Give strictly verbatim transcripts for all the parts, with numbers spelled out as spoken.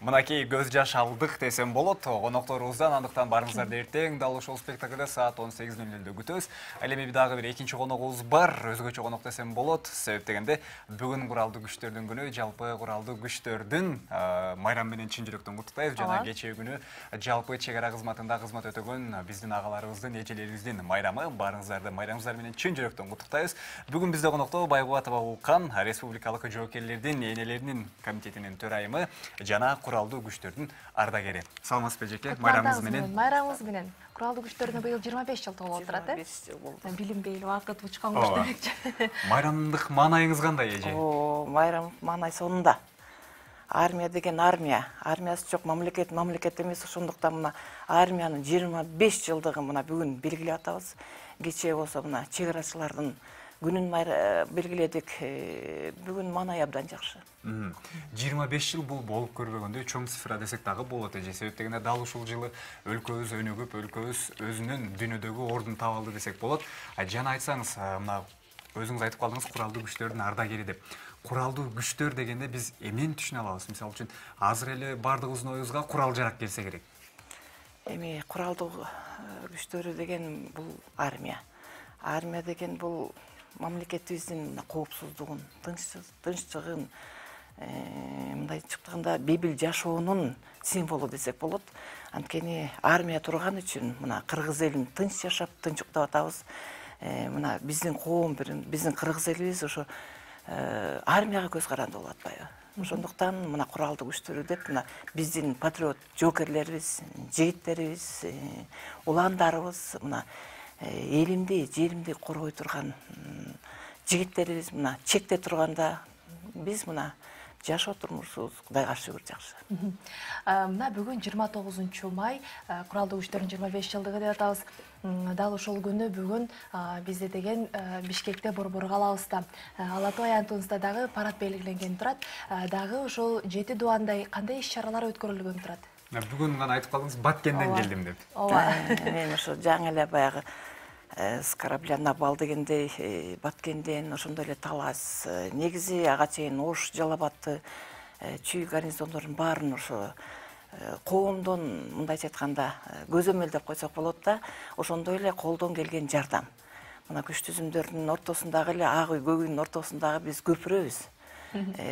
Мынакей көз жаш алдык десем болот. Конокторубуздан андыктан барыңыздар эртең дал ушул спектаклде саат он сегиз нөл нөлдө күтөбүз. Ал эми дагы бир экинчи коногубуз бар. Өзгөчө конок десем болот. Себеп дегенде бүгүн куралдуу күчтөрдүн күнү, жалпы куралдуу күчтөрдүн майрам менен чын жүрөктөн куттуктайбыз. Жана кечээ күнү жалпы чек ара кызматында кызмат өтөгөн биздин агаларыбыздын, эжелерибиздин майрамы. Барыңыздарды майрамыңыздар менен чын жүрөктөн куттуктайбыз. Бүгүн бизде конокто Байгубатова Улкан, республикалык жоокерлердин энелеринин комитетинин төрайымы жана куралдуу күчтөрдүн ардагери. Саламатсызбы эжеке? Майрамыңыз менен. Майрамыңыз менен. Куралдуу күчтөрүнө быйыл жыйырма беш жыл толуп отурат, э? жыйырма беш жыл болду. Билинбей эле убакыт учкан куш демекчи. Майрамдык маанайыңыз кандай, эже? О, майрам маанай сонунда. Армия деген армия, армиясы жок мамлекет, мамлекет эмес. Ошондуктан мына армиянын жыйырма беш жылдыгын мына бүгүн белгилеп атабыз. Кечээ болсо мына чек арачылардын күнүн белгиледик. Бүгүн маанай абдан жакшы. жыйырма беш жыл бул болуп көрбөгөндөй чоң цифра десек дагы болот, эже. Себеп дегенде дал ушул жылы өлкөбүз өнүгүп, өлкөбүз өзүнүн дүйнөдөгү ордун таап алды десек болот. Жана айтсаңыз, мына өзүңүз айтып калдыңыз куралдуу күчтөрдүн ардагери деп. Куралдуу күчтөр дегенде биз эмнени түшүнө алабыз? Мисалы үчүн азыр эле бардыгыбыздын оюбузга курал жарак келсе керек. Эми куралдуу күчтөрү деген бул армия. Армия деген бул мамлекетибиздин коопсуздугун, тынччылыгын, мындайча айтканда бейбил жашоонун символу десек болот. Анткени армия турган үчүн мына кыргыз элин тынч жашап, тынч уктап атабыз. Мына биздин коом, биздин кыргыз элибиз ошо армияга көз каранды болуп атпайбы? Ошондуктан мына куралдуу күчтөрү деп мына биздин патриот жоокерлерибиз, жигиттерибиз, уландарыбыз, мына элимди, жеримди коргой турган жигиттерибиз мына чекте турганда биз мына жашоо турмушубуз Кудайга шүгүр жакшы. Мына бүгүн жыйырма тогузунчу май куралдуу күчтөрдүн жыйырма беш жылдыгы деп атабыз. Дал ошол күнү бүгүн бизде деген Бишкекте борбор калабызда Ала тоо аянтыбызда дагы парад белгиленген турат. Дагы ошол жети дубандай кандай иш-чаралар өткөрүлгөн турат? Бүгүн гана айтып калдыңыз, Баткенден келдим деп. Ооба. Мен ошо жаңы эле баягы с корабля на бал дегендей Баткенден, ошондой эле Талас, негизи ага чейин Ош, Жалал-Абадты, Чүй гарнизондордун баарын ошо коомдон, мындайча айтканда, көзөмөлдөп койсок болот да, ошондой эле колдон келген жардам. Мына күч түзүмдөрдүн ортосундагы эле ак үй, көк үйдүн ортосундагы биз көпүрөбүз.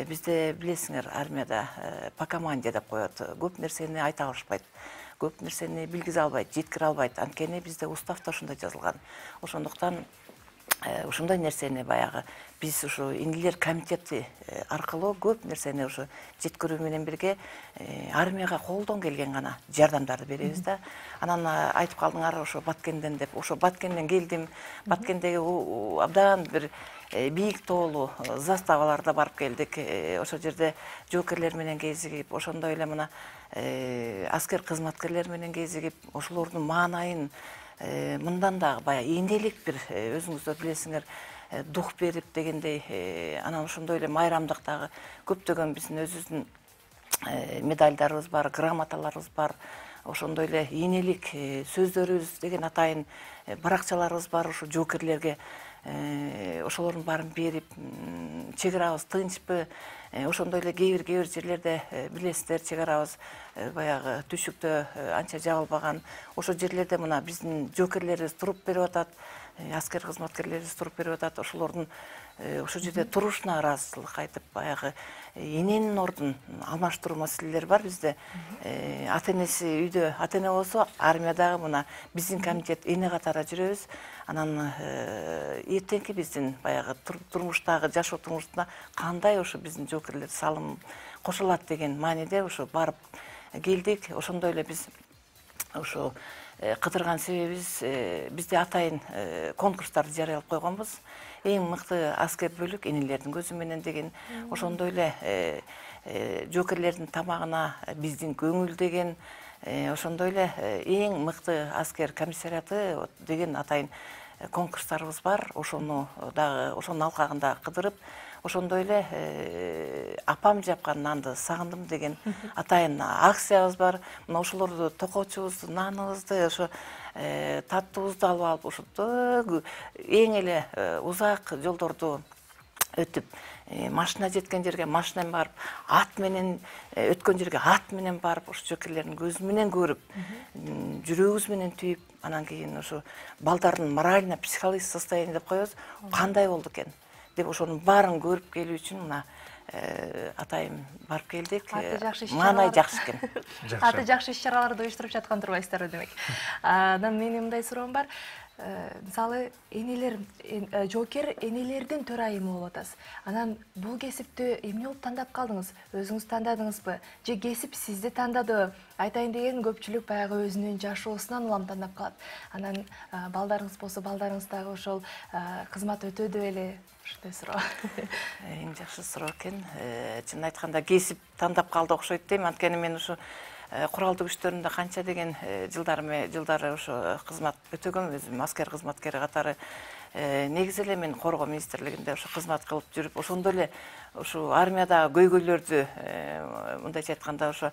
Бизде билесиңер, армияда по команде деп коет. Көп нерсени айта алышпайт. Көп нерсени билгизе албайт, жеткире албайт. Анткени бизде уставда ошондой жазылган. Ошондуктан ошондой нерсени баягы биз ушу инилер комитети аркылуу көп нерсени ушу жеткирүү менен бирге армияга колдон келген гана жардамдарды беребиз да. Анан айтып калдыңар ошо Баткенден деп. Ошо Баткенден келдим. Баткендеги абдан бир бийик тоолуу заставаларда барып келдик. Ошол жерде жоокерлер менен кезигип, ошондой эле мына аскер кызматкерлер менен кезигип, ошолордун маанайын мындан дагы баягы энелик бир, өзүңүздөр билесиңер, дух берип дегендей, анан ошондой эле майрамдык дагы көптөгөн биздин өзүбүздүн медальдарыбыз бар, грамоталарыбыз бар. Ошондой эле энелик сөздөрүбүз деген атайын баракчаларыбыз бар ушу жоокерлерге. Ошолордун баарын берип, чек арабыз тынчпы, ошондой эле кээ бир кээ бир жерлерде билесиздер, чек арабыз баягы түшүктө анча жабылбаган. Ошол жерлерде мына биздин жоокерлерибиз туруп берип атат, аскер кызматкерлерибиз туруп берип атат. Ошолордун ошол жерде турушуна ыраазычылык айтып, баягы эненин ордун алмаштыруу маселелери бар бизде. Ата энеси үйдө ата эне болсо, армиядагы мына биздин комитет эне катары жүрөбүз. Анан эртеңки биздин баягы турмуштагы жашоо турмушуна кандай ошо биздин жоокерлер салым кошулат деген мааниде ошо барып келдик. Ошондой эле биз ошо кыдырган себебибиз, бизде атайын конкурстарды жарыялап койгонбуз. Эң мыкты аскер бөлүк энелердин көзү менен деген. Ошондой эле жоокерлердин тамагына биздин көңүл деген. Ошондой эле эң мыкты аскер комиссариаты деген атайын конкурстарыбыз бар. Ошону дагы ошонун алкагында кыдырып, ошондой эле апам жапкан нанды сагындым деген атайын акциябыз бар. Мына ошолорду токоочубузду, наныбызды, ошо таттуубузду алып алып, ошондо эң эле узак жолдорду өтүп машина жеткен жерге машина менен барып, ат менен өткөн жерге ат менен барып, ушу жоокерлердин көзү менен көрүп, жүрөгүбүз менен түйүп, анан кийин ушу балдардын морально психологический состояние деп коебуз, кандай болду экен деп ошонун баарын көрүп келүү үчүн мына атайым барып келдик. Маанай жакшы экен. Аты жакшы иш-чараларды уюштуруп жаткан турбайсыздарбы демек. Анан менин мындай суроом бар. Мисалы, энелер, жоокер энелердин төрайымы болуп атасыз. Анан бул кесипти эмне болуп тандап калдыңыз? Өзүңүз тандадыңызбы? Же кесип сизди тандадыбы? Айтайын деген көпчүлүк баягы өзүнүн жашоосунан улам тандап калат. Анан балдарыңыз болсо, балдарыңыз дагы ошол кызмат өтөдү беле? Ушундай суроо. Эң жакшы суроо экен. Чын айтканда кесип тандап калды окшойт дейм. Анткени мен ушу куралдуу күчтөрүндө канча деген жылдары жылдары ошо кызмат өтөгөм, өзүм аскер кызматкери катары. Негизи эле мен коргоо министрлигинде ошо кызмат кылып жүрүп, ошондо эле ушу армияда көйгөйлөрдү, мындайча айтканда ошо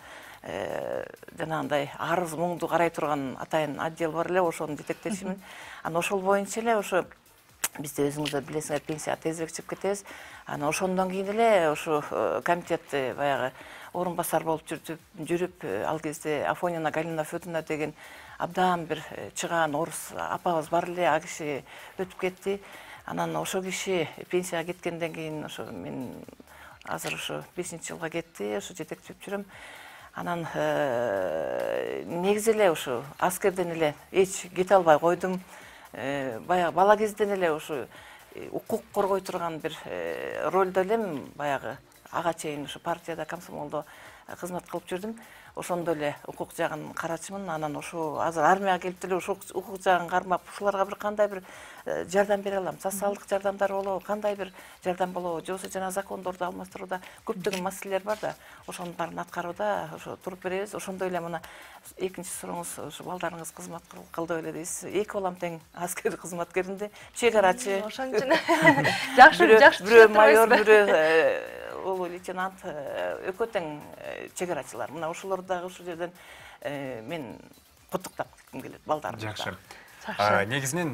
жанагындай арыз муңду карай турган атайын отдел бар эле, ошону жетектешимин. Анан ошол боюнча эле ошо бизде өзүңүздөр билесиңер, пенсияга тезирээк чыгып кетебиз. Анан ошондон кийин эле ошо комитетти баягы орун басар болуп жүрүп, ал кезде Афонина Галина Федоровна деген абдан бир чыгаан орус апабыз бар эле, а киши өтүп кетти. Анан ошо киши пенсияга кеткенден кийин ошо мен азыр ошо бешинчи жылга кетти, ошо жетектеп жүрөм. Анан негизи эле ошо аскерден эле эч кете албай койдум. Баягы бала кезден эле ошо укук коргой турган бир ролдо элем, баягы ага чейин ошо партияда, комсомолдо кызмат кылып жүрдүм. Ошондо эле укук жагын карачымын. Анан ошо азыр армияга келип деле ошо укук жагын кармап, ушуларга бир кандай бир жардам бере алам, социалдык жардамдар болобу, кандай бир жардам болобу, же болбосо жана закондорду алмаштырууда көптөгөн маселелер бар да, ошонун баарын аткарууда ошо туруп беребиз. Ошондой эле мына экинчи сурооңуз, ошо балдарыңыз кызмат кылды беле дейсиз. Эки балам тең аскер кызматкеринде, чек арачы. Ошон үчүн жакшы жакшы бирөө майор, бирөө улуу лейтенант, экөө тең чек арачылар. Мына ошолорду дагы ушул жерден мен куттуктап кетким келет балдарымды. Жакшы. Негизинен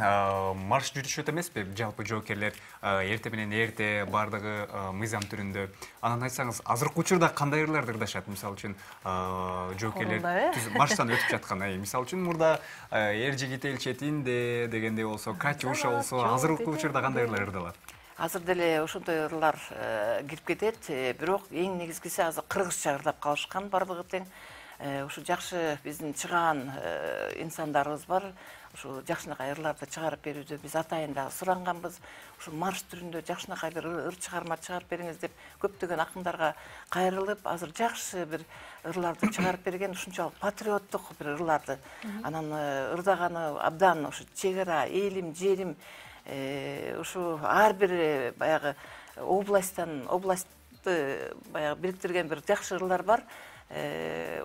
марш жүрүшөт эмеспи жалпы жоокерлер эрте менен эрте бардыгы мыйзам түрүндө. Анан айтсаңыз, азыркы учурда кандай ырларды ырдашат? Мисалы үчүн жоокерлер марштан өтүп жаткан, мисалы үчүн мурда эр жигит эл четинде дегендей болсо, Катюша болсо, азыркы учурда кандай ырлар ырдалат? Азыр деле ошондой ырлар кирип кетет, бирок эң негизгиси азыр кыргызча ырдап калышкан бардыгы тең. Ушу жакшы биздин чыгаан инсандарыбыз бар. Ушу жакшынакай ырларды чыгарып берүүдө биз атайын дагы суранганбыз. Ушу марш түрүндө жакшынакай бир ыр чыгарма чыгарып бериңиз деп көптөгөн акындарга кайрылып, азыр жакшы бир ырларды чыгарып берген, ушунчалык патриоттук бир ырларды. Анан ырдаганы абдан ушу чек ара, элим, жерим, ушу ар бир баягы областтан, областты баягы бириктирген бир жакшы ырлар бар.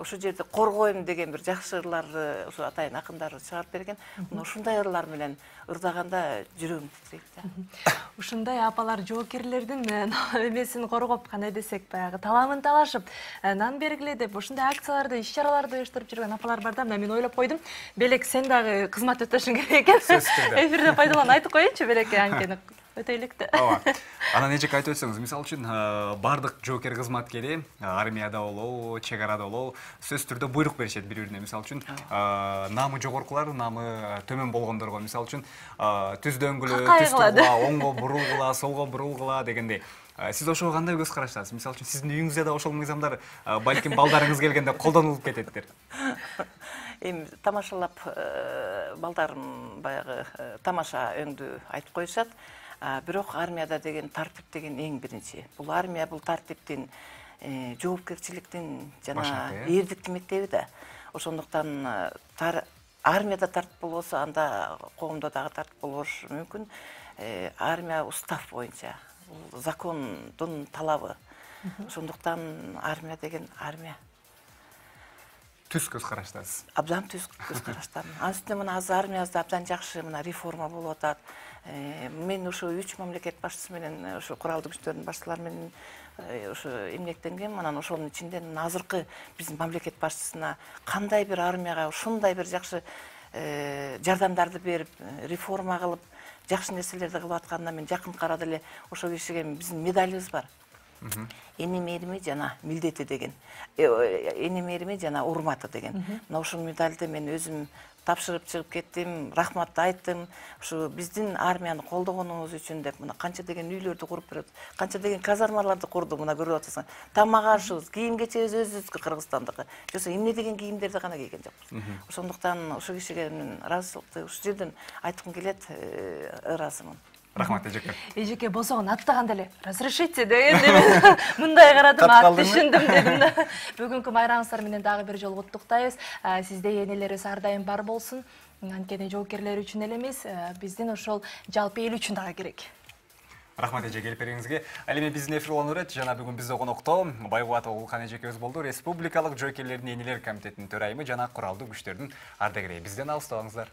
Ошол жерде коргойм деген бир жакшы ырларды ушу атайын акындар чыгарып берген. Мына ушундай ырлар менен ырдаганда жүрөгүм титирейт да. Ушундай апалар жоокерлердин эмесин коргоп, кандай десек, баягы таламын талашып, нан бергиле деп ушундай акцияларды, иш-чараларды уюштуруп жүргөн апалар бар да. Мен ойлоп койдум, белек сен дагы кызмат өтөшүң керек экен. Эфирде пайдаланып айтып коеюнчу белек, анткени өтөйлүктү. Ооба. Анан эжек айтып өтсөңүз, мисалы үчүн бардык жоокер кызматкери армияда болобу, чек арада болобу, сөзсүз түрдө буйрук беришет бири-бирине. Мисалы үчүн намы жогоркулар, намы төмөн болгондорго, мисалы үчүн түз дөңгүлө, түз тургула, оңго бурулгула, солго бурулгула дегендей. Сиз ошого кандай көз караштасыз? Мисалы үчүн сиздин үйүңүздө да ошол мыйзамдар балким балдарыңыз келгенде колдонулуп кететтир. Эми тамашалап балдарым баягы тамаша өңдү айтып коюшат. Бирок армияда деген тартип деген эң биринчи. Бул армия, бул тартиптин, жоопкерчиликтин жана эрдиктин мектеби да. Ошондуктан армияда тартип болбосо, анда коомдо дагы тартип болбош мүмкүн. Армия устав боюнча, бул закондун талабы. Ошондуктан армия деген армия. Түз көз караштасыз. Абдан түз көз караштамын. Анын үстүнө мына азыр армиябызда абдан жакшы мына реформа болуп атат. Мен ошо үч мамлекет башчысы менен, ошо куралдуу күчтөрдүн башчылары менен ошо эмгектенгем. Анан ошонун ичинде азыркы биздин мамлекет башчысына кандай бир армияга ушундай бир жакшы жардамдарды берип, реформа кылып, жакшы нерселерди кылып атканына мен жакын карап эле ошол кишиге биздин медалыбыз бар. Эни мээрими жана милдети деген. Эни мээрими жана урматы деген. Мына ушул медалды мен өзүм тапшырып чыгып кеттим, рахматты айттым. Ушу биздин армияны колдогонуңуз үчүн деп мына канча деген үйлөрдү куруп берет, канча деген казармаларды курдук, мына көрүп атасың. Тамак ашыбыз, кийим кечебиз өзүбүздүкү Кыргызстандыкы. Жоксо эмне деген кийимдерди гана кийген жокпуз. Ошондуктан ушул кишиге мен ыраазычылыкты ушул жерден айткым келет, ыраазымын. Рахмат эжеке. Эжеке босогон аттаганда эле разрешите деген мындай карадым, атты түшүндүм дедим да. Бүгүнкү майрамыңыздар менен дагы бир жолу куттуктайбыз. Сизде энелериңиз ар дайым бар болсун. Анткени жоокерлер үчүн эле эмес, биздин ошол жалпы эл үчүн дагы керек. Рахмат эже келип бериңизге. Ал эми биздин эфир уланып берет. Жана бүгүн бизде конокто Байгубатов Улкан эжекебиз болду. Республикалык жоокерлердин энелер комитетинин төрайымы жана куралдуу күчтөрдүн ардагери. Бизден алыстабаңыздар.